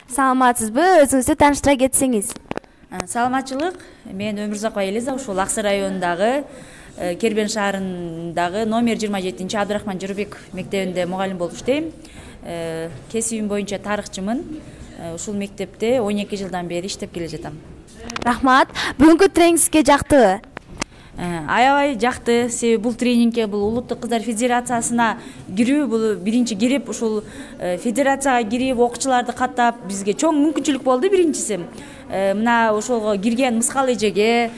Саламатсызбы? Өзүңүздү тааныштыра кетсеңиз. Саламатчылык. Мен Өмүрзакова Элиза, ушул Аксы районундагы Кербен шаарындагы номер 27 Абдрахман Жырбеков мектебинде мугалим болуп иштейм. Кесибим боюнча тарыхчымын. Ушул мектепте 12 жылдан бери иштеп келе жатам. Рахмат. Бүгүнкү тренинг сизге жактыбы? Аябай жакты. Себеби бул тренингке бул Улуттук кыздар федерациясына кирүү, бул биринчи кирип ушул федерацияга кирип окуучуларды каттап бизге чоң мүмкүнчүлүк болду биринчиси. Мына ошого кирген Мыскал эжеге,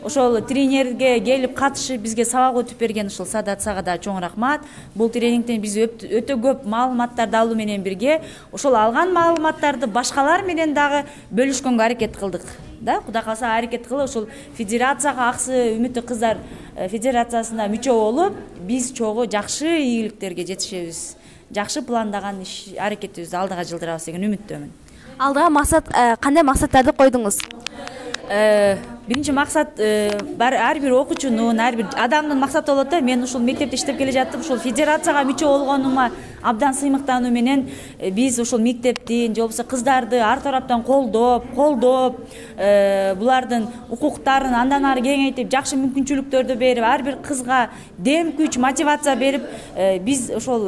ошол тренерге келип катышып бизге сабак өтүп берген ушул Садат Сага да чоң рахмат. Бул тренингден биз өтө көп маалыматтарды алуу менен бирге ошол алган маалыматтарды башкалар менен дагы бөлүшкөнгө аракет кылдык. Да, Кудай кааласа аракет кылып ушул федерацияга, Аксы Үмүттүү кыздар федерациясына мүчө болуп, биз чогуу жакшы ийгиликтерге жетишебиз. Жакшы пландаган иш аракетибизди алдыга жылдырабыз деген үмүттөмүн. Алдыга максат кандай максаттарды койдуңуз? Биринчи максат ар бир окуучунун, ар бир адамдын максаты болот да. Мен ушул мектепте иштеп келе жаттым. Ушул федерацияга мүчө болгонума абдан сыймыктануу менен биз ушул мектептин, же болбосо кыздарды ар тараптан колдоп, булардын укуктарын андан ары кеңейтип, жакшы мүмкүнчүлүктөрдү берип, ар бир кызга дем, күч, мотивация берип, биз ошол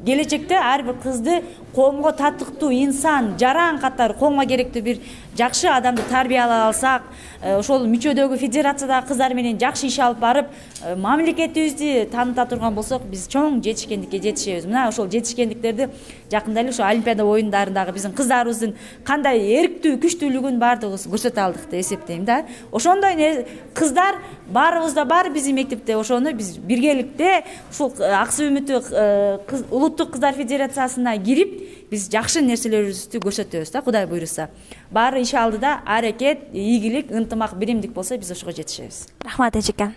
келечекте ар бир кызды коомго татыктуу инсан, жаран катары коомго керектүү бир жакшы адамды тарбиялай алсак, ошол мүчөдөгү федерациядагы кыздар менен жакшы иш алып барып, мамлекетибизди тааныта турган болсок, биз чоң жетишкендикке жетишебиз. Мына ошол жетишкендиктерди жакында эле ошо Олимпиада оюндарындагы биздин кыздарыбыздын кандай эрктүү, күчтүүлүгүн баардыгыбыз көрсөтө алдык деп эсептейм да. Ошондой кыздар баарыбызда бар биздин мектепте. Ошону биз биргеликте ушул Аксы Үмүттүү Улуттук кыздар федерациясына кирип, биз жакшы нерселерибизди көрсөтөбүз да, Кудай буйруса. Баары иш алдыда аракет, ийгилик, ынтымак, биримдик болсо биз ошого жетишебиз. Рахмат эжеке.